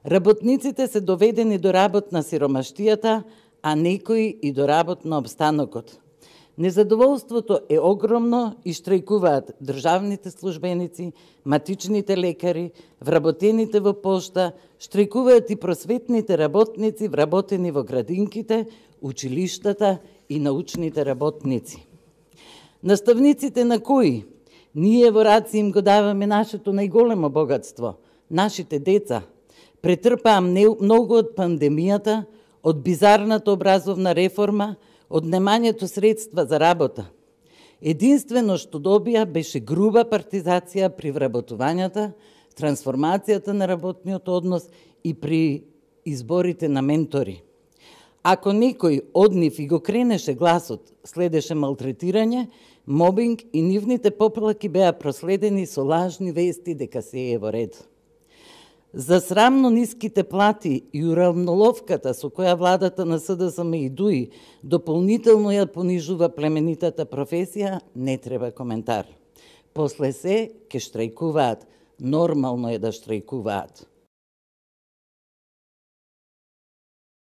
Работниците се доведени до работ на сиромаштијата, а некои и до работ на обстанокот. Незадоволството е огромно и штрајкуваат државните службеници, матичните лекари, вработените во пошта, штрајкуваат и просветните работници вработени во градинките, училиштата и научните работници. Наставниците на кои? Ние во раци им го даваме нашето најголемо богатство, нашите деца. Претрпаа многу од пандемијата, од бизарната образовна реформа, од немањето средства за работа. Единствено што добија беше груба партизација при вработувањата, трансформацијата на работниот однос и при изборите на ментори. Ако некој од нив и го кренеше гласот, следеше малтретирање, мобинг и нивните поплаки беа проследени со лажни вести дека се е во ред. За срамно ниските плати и уравноловката со која владата на СДСМ и ДУИ дополнително ја понижува племенитата професија, не треба коментар. После се ке штрајкуваат, нормално е да штрајкуваат.